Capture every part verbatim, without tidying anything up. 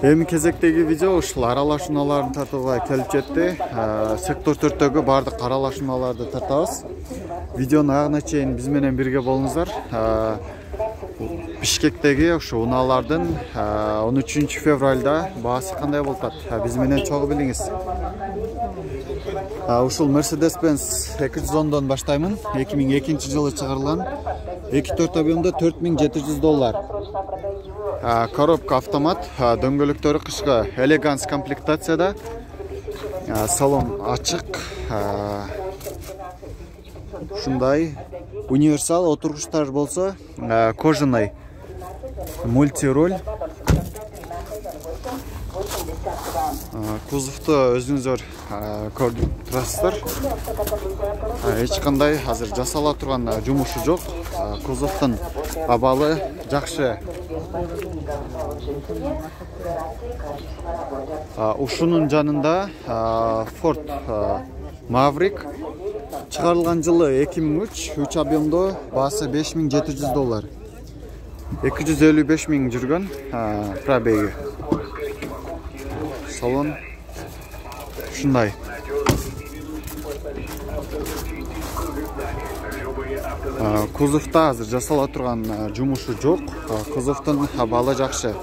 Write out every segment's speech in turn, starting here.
Эми кезектеги видео ушул аралашууларды тартууга келип жетти. Сектор төрттөгү бардык аралашууларды тартабыз. Видеонун агына чейин биз менен бирге болуңуздар. Бишкектеги ушу унаалардын он үчүнчү февралда баасы кандай болуп атат? Биз менен чогуу билиңиз. Ушул Mercedes-Benz эки жүз ондон баштаймын. эки миң экинчи жылы чыгарылган. эки төрт объемдо төрт миң жети жүз доллар. Коробка автомат, дөңгөлөктөрү кышкы элеганс комплектацияда. Салон ачык. Ушундай универсал отургучтар болсо, кожаный мультироль. Кузовду өзүңүздөр көрүп турасыздар. Эч кандай азыр жасала турган жумушу жок. Кузовдун абалы жакшы. Ушунун жанында Ford Maverick чыгарылган жылы эки миң үч, үч объемдо баасы беш миң жети жүз доллар. эки жүз элүү беш миң жүргөн пробеги. Салон ушундай. Кузовда азыр жасала турган жумушу жок. Кузовдун абалы жакшы.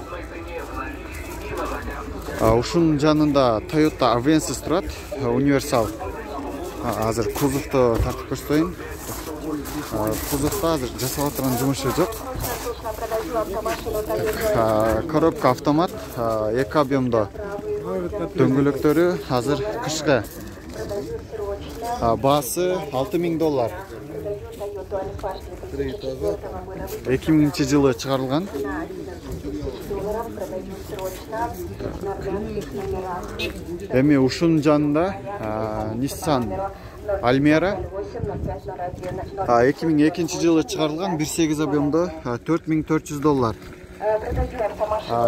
Ушунун жанында Toyota Avensis турат, универсал. Азыр кузовду тартып көрсөтөйүн. Кузовда азыр жасала турган жумушу жок. Коробка автомат, эки объемдо. Дөңгөлөктөрү азыр кышкы. Баасы алты миң доллар. эки миңинчи жылы чыгарылган. Эми ушунун жанында Nissan Almera эки миң экинчи жылы чыгарылган, бир сегиз объемдо төрт миң төрт жүз доллар.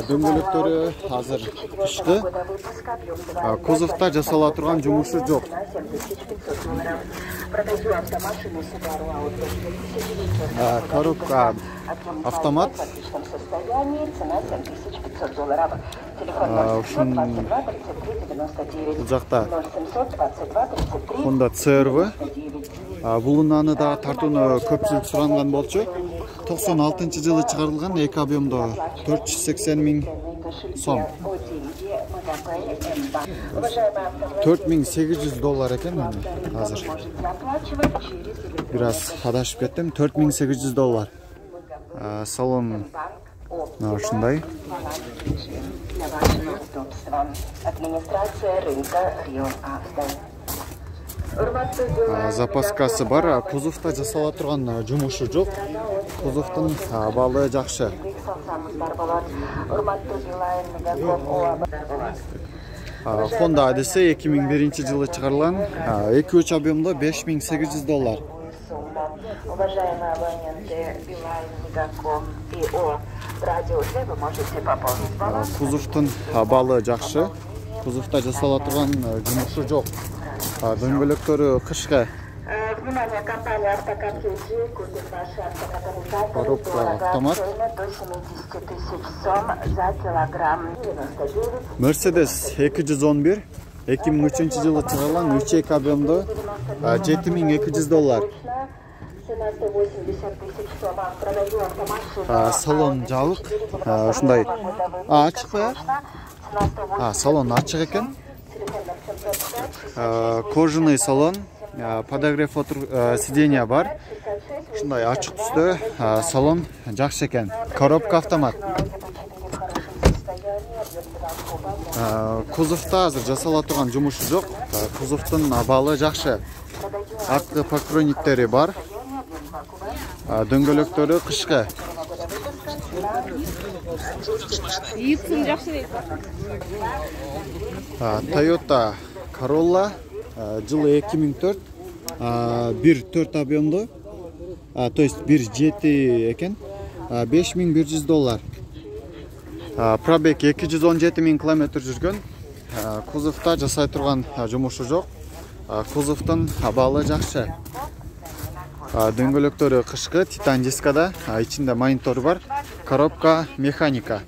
Дөңгөлөктөрү азыр кышкы. Кузовда жасала турган жумушу жок. Коробка автомат. Ушун бул жакта Honda си эр ви. Бул унааны да тартууну көпчүлүк суранган болчу. токсон алтынчы жылы чыгарылган, эки объемдо төрт жүз сексен миң сом. төрт миң сегиз жүз доллар экен азыр. Бир аз адашып кеттим. төрт миң сегиз жүз доллар. Салон ушундай. Запаскасы бар, кузовда жасала турган жумушу жок. Кузовдун абалы жакшы. Honda Odyssey эки миң биринчи жылы чыгарылган, эки үч объемдо беш миң сегиз жүз доллар. Уважаемые абоненты Билайн, Мегаком и О Радио Д, вы можете пополнить баланс. Кузовдун абалы жакшы. Кузовда жасала турган жумушу жок. Дөңгөлөктөрү кышкы. Внимание, компания Автокар-Кей-Джи купит ваши автокатализаторы. Коробка автомат. До семидесяти тысяч сом за килограмм. Mercedes эки жүз он бир, эки миң үчүнчү жылы чыгарылган, үч эки объемдо жети миң эки жүз доллар. Салон жабык. Ушундай ачык ба? Салон ачык экен. Кожаный салон, подогрев сиденья бар. Ушундай ачык түстө салон жакшы экен. Коробка автомат. Кузовда азыр жасала турган жумушу жок. Кузовдун абалы жакшы. Арткы покройниктери бар. Дөңгөлөктөрү кышкы. Ийипсин жакшы дейт. Toyota Corolla жылы эки миң төрт, бир төрт объемдо, то есть бир жети экен, беш миң бир жүз доллар. Пробег эки жүз он жети миң километр жүргөн. Кузовда жасай турган жумушу жок. Кузовдун абалы жакшы. Дөңгөлөктөрү кышкы, титан дискада, ичинде монитор бар. Коробка механика.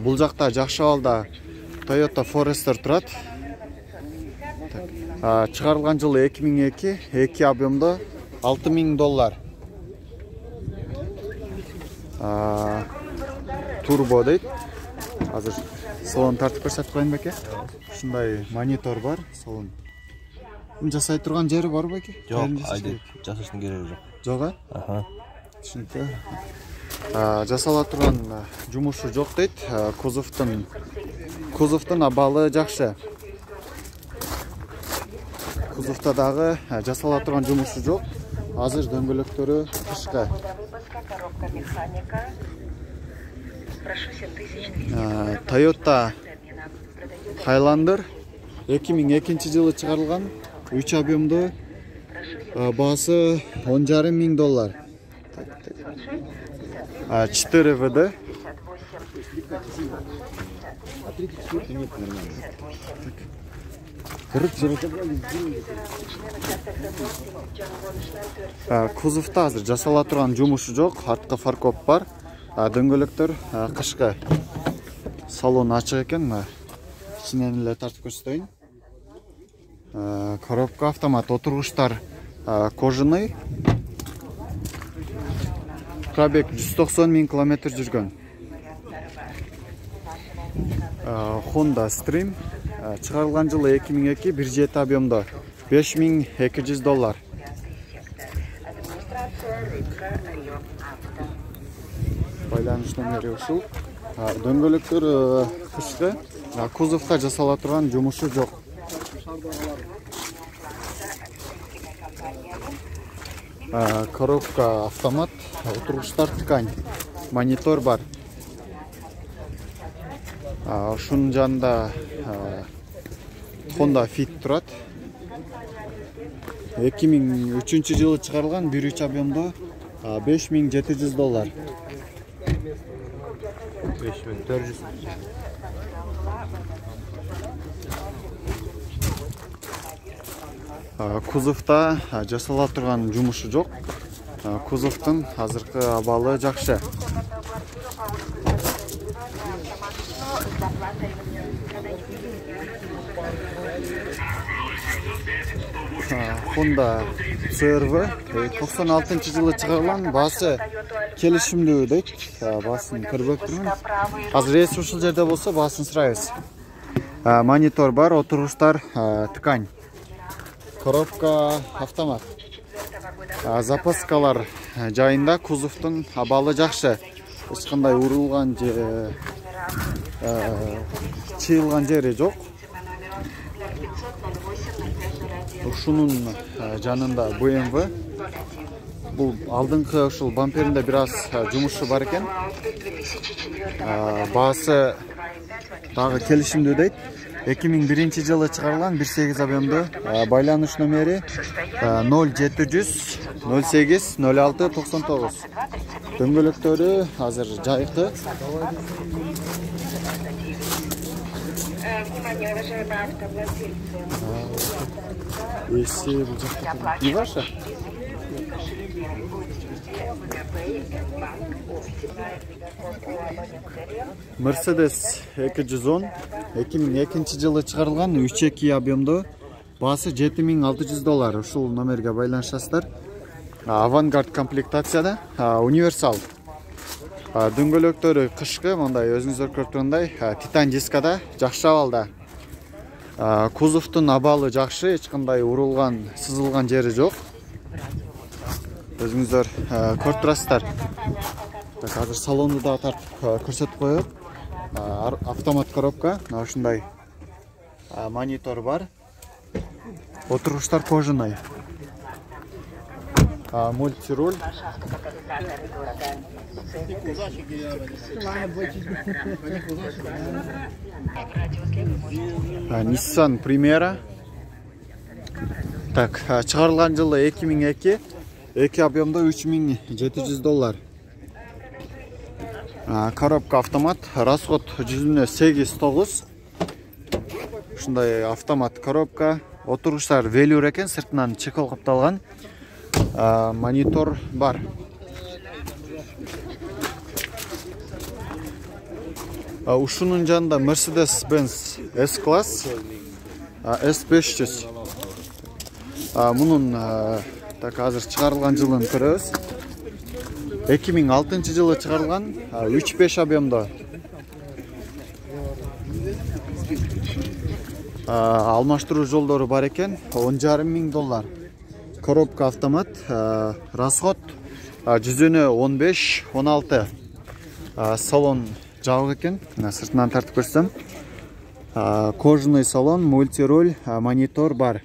Бул жакта жакшы абалда Toyota Forester турат. Чыгарылган жылы эки миң эки, эки объемдо алты миң доллар. Турбо дейт. Азыр салон тартып көрсөтүп коеюн беке. Ушундай монитор бар, салон. Жасай турган жери бар беке? Жок, айдеп жасаштын кереги жок. Жок, а? Аха. Түшүнүктүү. Жасала турган жумушу жок дейт. Кузовдун кузовдун абалы жакшы. Кузовдо дагы жасала турган жумушу жок. Азыр дөңгөлөктөрү кышкы. Toyota Highlander эки миң экинчи жылы чыгарылган, үч объемдо, баасы он жарым миң доллар. четыре вэ дэ. Кузовдо азыр жасала турган жумушу жок, артка фаркоп бар. Дөңгөлөктөр кышкы. Салон ачык экен. Ичинен эле тартып көрсөтөйүн. Коробка автомат, отургучтар кожаный. Пробег жүз токсон миң километр жүргөн. Honda Stream чыгарылган жылы эки миң эки, бир жети объемдо, беш миң эки жүз доллар. Байланыш номери ушул. Дөңгөлөктөр кышкы. Кузовдо жасала турган жумушу жок. Коробка автомат, отургучтар ткань, монитор бар. Ушунун жанында Honda Fit турат. эки миң үчүнчү жылы чыгарылган, бир үч объемдо, беш миң жети жүз доллар. беш миң төрт жүз. Кузовдо жасала турган жумушу жок. Кузовдун азыркы абалы жакшы. Honda си эр ви токсон алтынчы жылы чыгарылган, баасы келишимдүү дейт. Баасын көрбөк турмун. Азыр эс ушул жерде болсо баасын сурайбыз. Монитор бар, отургучтар ткань. Коробка автомат. Запаскалар жайында, кузовдун абалы жакшы. Эч кандай урулган же чыйылган жери жок. Ушунун жанында бэ эм вэ. Бул алдыңкы ушул бамперинде бир аз жумушу бар экен. Баасы дагы келишимдүү дейт. эки миң биринчи жылы чыгарылган, бир сегиз объемдо. Байланыш номери ноль жети жүз ноль сегиз ноль алты токсон тогуз. Дөңгөлөктөрү азыр жайкы. Эси бул жакта не ваша? Mercedes эки жүз он, эки миң экинчи жылы чыгарылган, үч эки объемдо, баасы жети миң алты жүз доллар. Ушул номерге байланышасыздар. Авангард комплектацияда, универсал. Дөңгөлөктөрү кышкы, мындай өзүңүздөр көрүп тургандай, титан дискада, жакшы абалда. Кузовдун абалы жакшы, эч кандай урулган, сызылган жери жок. Өзүңүздөр көрүп турасыздар. Азыр салонду да тартып көрсөтүп коёт. Автомат коробка, ушундай монитор бар. Отургучтар кожаный. Мультируль. Nissan Primera. Так, чыгарылган жылы эки миң эки, эки объемдо үч миң жети жүз доллар. Коробка автомат, расход жүзүнө сегиз тогуз. Ушундай автомат коробка, отургучтар велюр экен, сыртынан чекол капталган. Монитор бар. Ушунун жанында Mercedes-Benz S-класс S беш жүз. Мунун так азыр чыгарылган жылын көрөбүз. эки миң алтынчы жылы чыгарылган, үч беш объемдо. Алмаштыруу жолдору бар экен, он жарым миң доллар. Коробка автомат, расход жүзүнө он беш он алты. Салон жабык экен, сыртынан тартып көрсөм. Кожаный салон, мультироль, монитор бар.